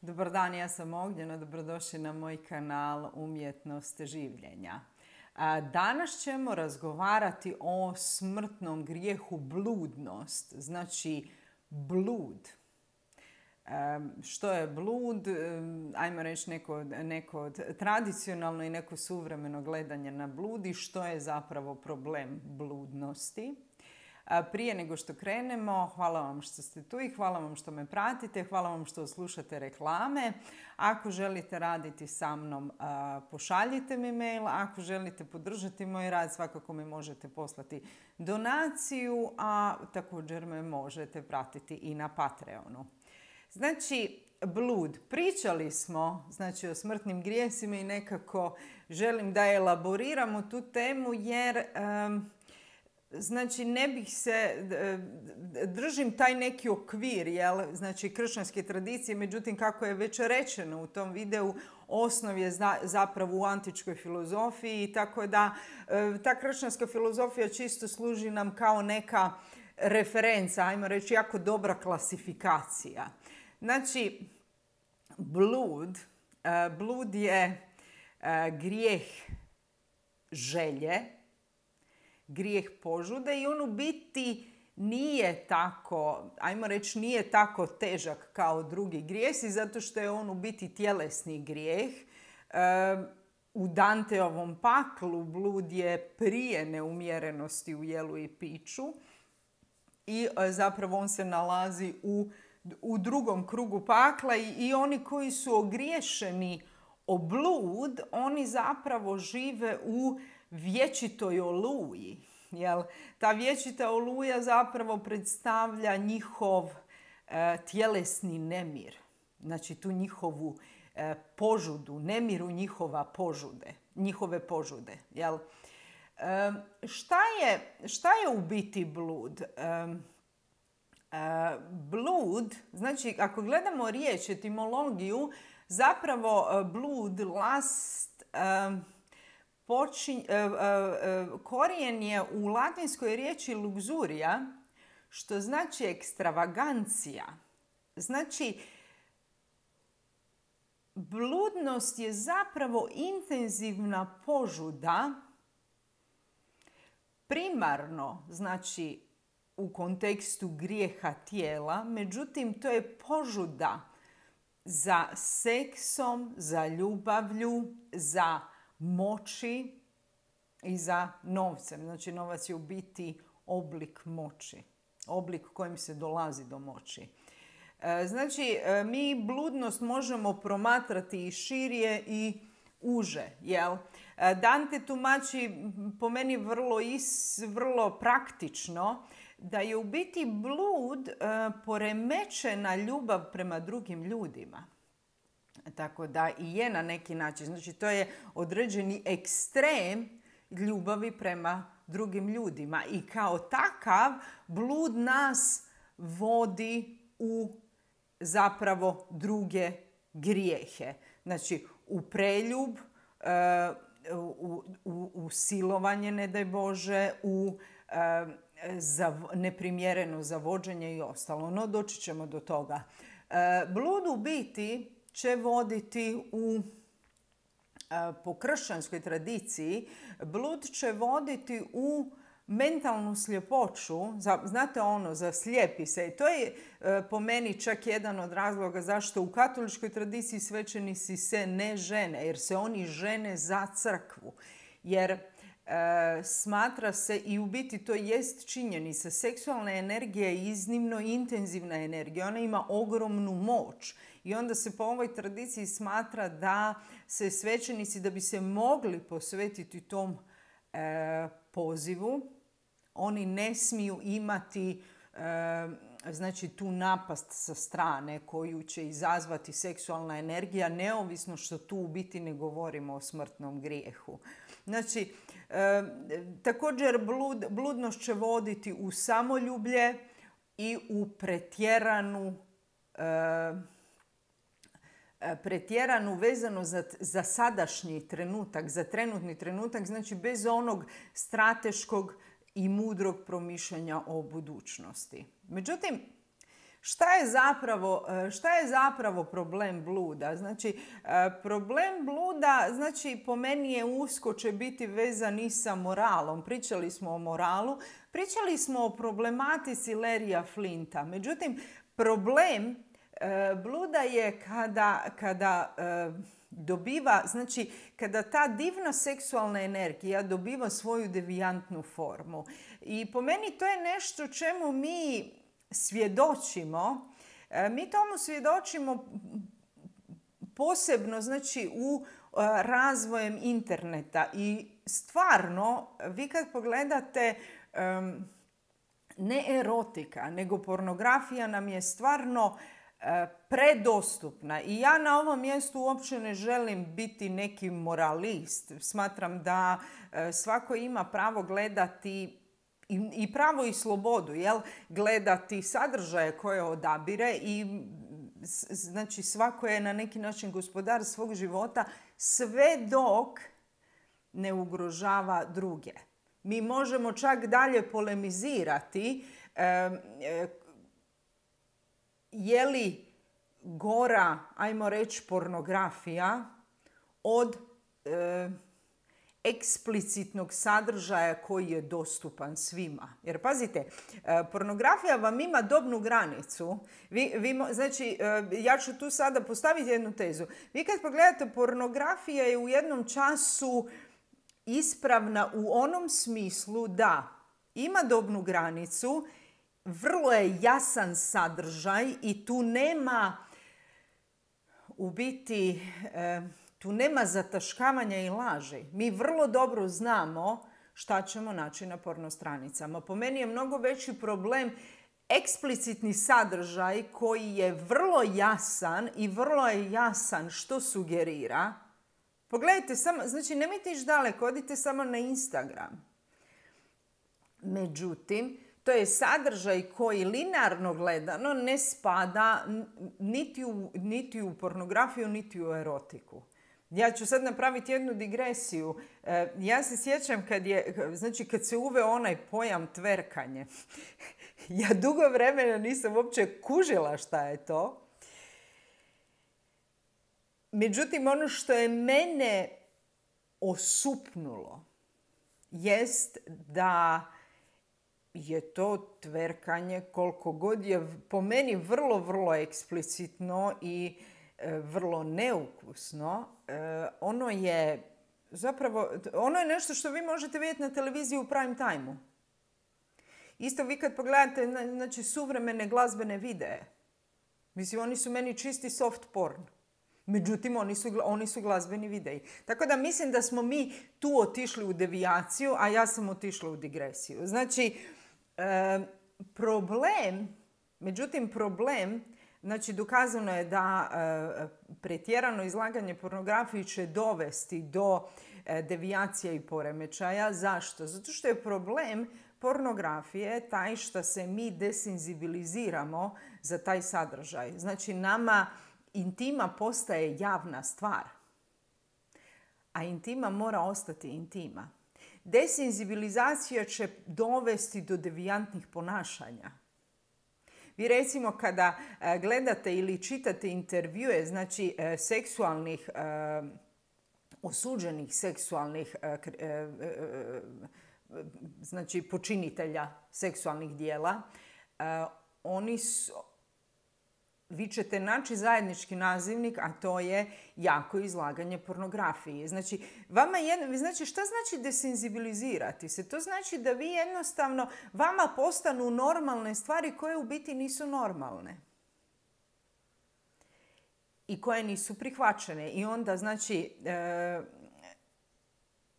Dobar dan, ja sam Ognjena, dobrodošli na moj kanal Umjetnost življenja. Danas ćemo razgovarati o smrtnom grijehu bludnost, znači blud. Što je blud? Ajmo reći neko tradicionalno i neko suvremeno gledanje na blud i što je zapravo problem bludnosti. Prije nego što krenemo, hvala vam što ste tu i hvala vam što me pratite, hvala vam što slušate reklame. Ako želite raditi sa mnom, pošaljite mi mail. Ako želite podržati moj rad, svakako mi možete poslati donaciju, a također me možete pratiti i na Patreonu. Znači, blud. Pričali smo o smrtnim grijesima i nekako želim da elaboriramo tu temu jer ne bih se, držim taj neki okvir, kršćanske tradicije, međutim kako je već rečeno u tom videu, osnov je zapravo u antičkoj filozofiji, tako da ta kršćanska filozofija čisto služi nam kao neka referenca, ajmo reći jako dobra klasifikacija. Znači, blud je grijeh želje, grijeh požude i on u biti nije tako, ajmo reći, nije tako težak kao drugi grijesi zato što je on u biti tjelesni grijeh. U Danteovom paklu blud je prije neumjerenosti u jelu i piću i zapravo on se nalazi u drugom krugu pakla i oni koji su ogriješeni o blud, oni zapravo žive u vječitoj oluji. Ta vječita oluja zapravo predstavlja njihov tjelesni nemir. Znači tu njihovu požudu, nemiru njihove požude. Šta je u biti blud? Blud, znači ako gledamo riječ, etimologiju, zapravo blud, last, korijen je u latinskoj riječi luxuria, što znači ekstravagancija. Znači, bludnost je zapravo intenzivna požuda, primarno, znači, u kontekstu grijeha tijela, međutim, to je požuda za seksom, za ljubavlju, za moći i za novcem. Znači, novac je u biti oblik moći, oblik kojim se dolazi do moći. Znači, mi bludnost možemo promatrati i širije i uže. Dante tumači po meni vrlo praktično da je u biti blud poremećena ljubav prema drugim ljudima. Tako da i je na neki način. Znači, to je određeni ekstrem ljubavi prema drugim ljudima. I kao takav, blud nas vodi u zapravo druge grijehe. Znači, u preljub, u silovanje, ne daj Bože, u neprimjereno zavođenje i ostalo. No, doći ćemo do toga. Blud u biti će voditi po kršćanskoj tradiciji, blud će voditi u mentalnu sljepoću. Znate ono, zaslijepi se. I to je po meni čak jedan od razloga zašto u katoličkoj tradiciji svećenici se ne žene, jer se oni žene za crkvu. Jer smatra se, i u biti to jest činjenica, seksualna energija je iznimno intenzivna energija. Ona ima ogromnu moć. I onda se po ovoj tradiciji smatra da se svećenici, da bi se mogli posvetiti tom pozivu, oni ne smiju imati tu napast sa strane koju će izazvati seksualna energija, neovisno što tu u biti ne govorimo o smrtnom grijehu. Znači, također bludnost će voditi u samoljublje i u pretjeranu vezano za sadašnji trenutak, za trenutni trenutak, znači bez onog strateškog i mudrog promišljanja o budućnosti. Međutim, Šta je zapravo problem bluda? Znači, problem bluda, znači, po meni je usko će biti vezan i sa moralom. Pričali smo o moralu, pričali smo o problematici Larrya Flinta. Međutim, problem bluda je kada dobiva, znači, kada ta divna seksualna energija dobiva svoju devijantnu formu. I po meni to je nešto čemu mi svjedočimo. Mi tomu svjedočimo posebno, znači, u razvojem interneta. I stvarno, vi kad pogledate, ne erotika, nego pornografija nam je stvarno predostupna. I ja na ovom mjestu uopće ne želim biti neki moralist. Smatram da svako ima pravo gledati i pravo i slobodu, gledati sadržaje koje odabire i znači svako je na neki način gospodar svog života sve dok ne ugrožava druge. Mi možemo čak dalje polemizirati je li gora, ajmo reći, pornografija od eksplicitnog sadržaja koji je dostupan svima. Jer pazite, pornografija vam ima dobnu granicu. Znači, ja ću tu sada postaviti jednu tezu. Vi kad pogledate, pornografija je u jednom času ispravna u onom smislu da ima dobnu granicu, vrlo je jasan sadržaj i tu nema u biti tu nema zataškavanja i laži. Mi vrlo dobro znamo šta ćemo naći na porno stranicama. Po meni je mnogo veći problem eksplicitni sadržaj koji je vrlo jasan i vrlo je jasan što sugerira. Pogledajte samo, znači nemojte ići daleko, odite samo na Instagram. Međutim, to je sadržaj koji linearno gledano ne spada niti u pornografiju, niti u erotiku. Ja ću sad napraviti jednu digresiju. Ja se sjećam kad se uveo onaj pojam tverkanje. Ja dugo vremena nisam uopće kužila šta je to. Međutim, ono što je mene osupnulo jest da je to tverkanje koliko god je po meni vrlo, vrlo eksplicitno i vrlo neukusno. Ono je nešto što vi možete vidjeti na televiziji u prime time-u. Isto vi kad pogledate, znači, suvremene glazbene videe. Mislim, oni su meni čisti soft porn. Međutim, oni su glazbeni videi. Tako da mislim da smo mi tu otišli u devijaciju, a ja sam otišla u digresiju. Znači, problem, znači dokazano je da pretjerano izlaganje pornografiji će dovesti do devijacija i poremećaja. Zašto? Zato što je problem pornografije taj što se mi desenzibiliziramo za taj sadržaj. Znači, nama intima postaje javna stvar, a intima mora ostati intima. Desenzibilizacija će dovesti do devijantnih ponašanja. Vi recimo kada gledate ili čitate intervjue, znači seksualnih, osuđenih seksualnih, znači počinitelja seksualnih dijela, vi ćete naći zajednički nazivnik, a to je jako izlaganje pornografiji. Znači, šta znači desenzibilizirati se? To znači da vi jednostavno, vama postanu normalne stvari koje u biti nisu normalne. I koje nisu prihvaćene. I onda, znači,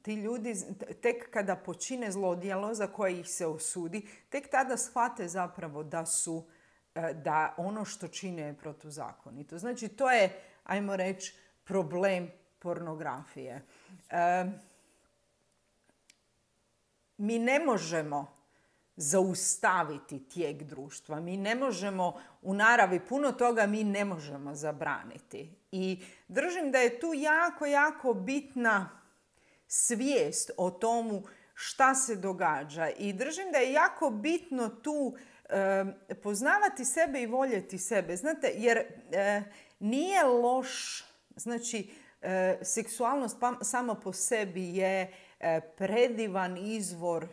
ti ljudi tek kada počine zlodjelo za koje ih se osudi, tek tada shvate zapravo da ono što čine je protuzakonito. Znači, to je, ajmo reći, problem pornografije. Mi ne možemo zaustaviti tijek društva. Mi ne možemo, u naravi puno toga mi ne možemo zabraniti. I držim da je tu jako, jako bitna svijest o tomu šta se događa. I držim da je jako bitno tu poznavati sebe i voljeti sebe. Znate, jer nije loš, znači, seksualnost sama po sebi je predivan izvor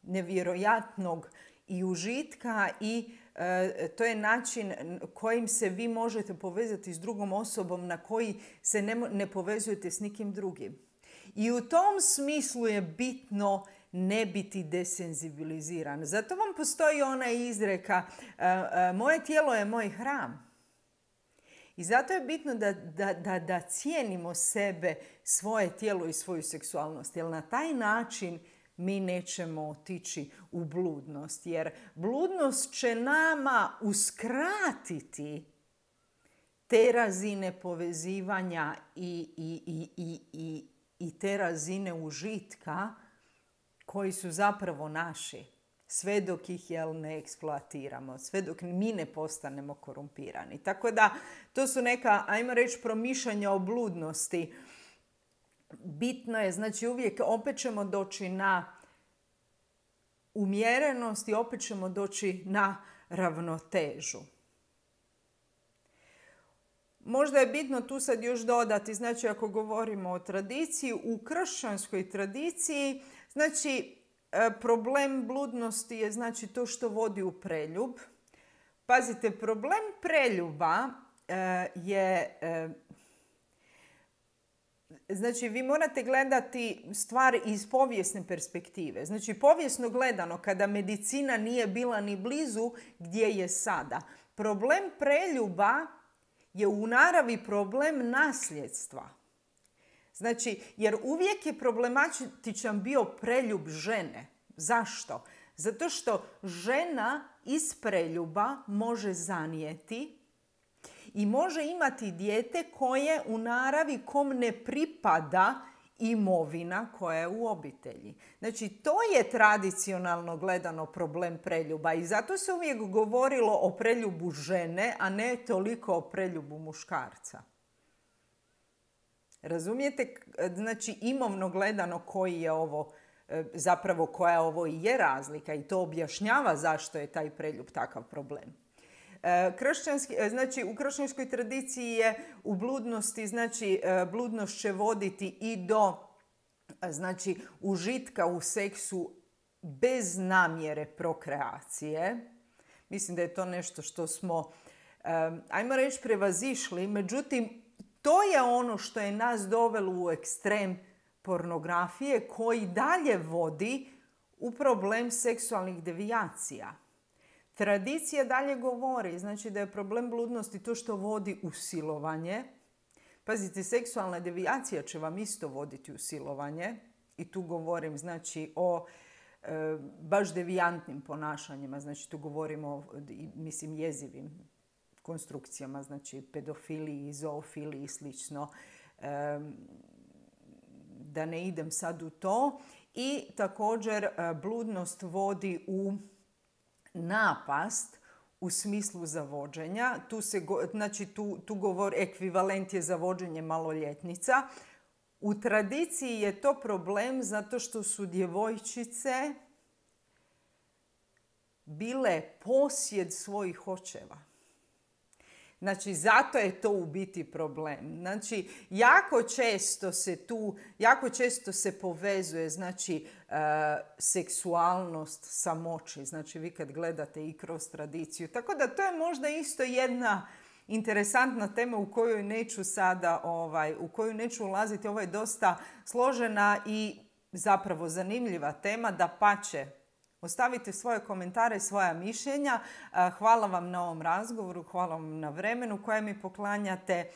nevjerojatnog i užitka i to je način kojim se vi možete povezati s drugom osobom na koji se ne povezujete s nikim drugim. I u tom smislu je bitno ne biti desenzibiliziran. Zato vam postoji ona izreka moje tijelo je moj hram. I zato je bitno da cijenimo sebe, svoje tijelo i svoju seksualnost. Jer na taj način mi nećemo otići u bludnost. Jer bludnost će nama uskratiti te razine povezivanja i te razine užitka koji su zapravo naši. Sve dok ih ne eksploatiramo, sve dok mi ne postanemo korumpirani. Tako da to su neka, ajmo reći, promišljanja o bludnosti. Bitno je, znači uvijek opet ćemo doći na umjerenost i opet ćemo doći na ravnotežu. Možda je bitno tu sad još dodati, znači ako govorimo o tradiciji, u kršćanskoj tradiciji, znači problem bludnosti je znači to što vodi u preljub. Pazite, problem preljuba je... Znači, vi morate gledati stvari iz povijesne perspektive. Znači, povijesno gledano, kada medicina nije bila ni blizu gdje je sada. Problem preljuba je u naravi problem nasljedstva. Znači, jer uvijek je problematičan bio preljub žene. Zašto? Zato što žena iz preljuba može zanijeti i može imati dijete koje u naravi kom ne pripada imovina koja je u obitelji. Znači, to je tradicionalno gledano problem preljuba i zato se uvijek govorilo o preljubu žene, a ne toliko o preljubu muškarca. Razumijete? Znači, imovno gledano koji je ovo, zapravo koja ovo i je razlika i to objašnjava zašto je taj preljub takav problem. Znači, u kršćanskoj tradiciji je u bludnosti, znači bludnost će voditi i do znači, užitka u seksu bez namjere prokreacije. Mislim da je to nešto što smo, ajmo reći, prevazišli. Međutim, to je ono što je nas dovelo u ekstrem pornografije koji dalje vodi u problem seksualnih devijacija. Tradicija dalje govori, znači da je problem bludnosti to što vodi u silovanje. Pazite, seksualna devijacija će vam isto voditi u silovanje. I tu govorim znači o baš devijantnim ponašanjima. Znači tu govorimo o, mislim, jezivim konstrukcijama, znači pedofiliji, zoofiliji i slično. Da ne idem sad u to. I također bludnost vodi u napast u smislu zavođenja. Tu govor ekvivalent je zavođenje maloljetnica. U tradiciji je to problem zato što su djevojčice bile posjed svojih očeva. Znači, zato je to u biti problem. Znači, jako često se povezuje, znači, seksualnost sa moći. Znači, vi kad gledate i kroz tradiciju. Tako da to je možda isto jedna interesantna tema u koju neću sada, u koju neću ulaziti. Ovo je dosta složena i zapravo zanimljiva tema, dapače. Ostavite svoje komentare, svoja mišljenja. Hvala vam na ovom razgovoru, hvala vam na vremenu koje mi poklanjate.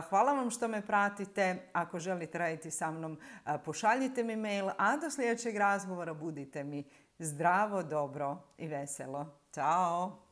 Hvala vam što me pratite. Ako želite raditi sa mnom, pošaljite mi mail, a do sljedećeg razgovora budite mi zdravo, dobro i veselo. Ćao!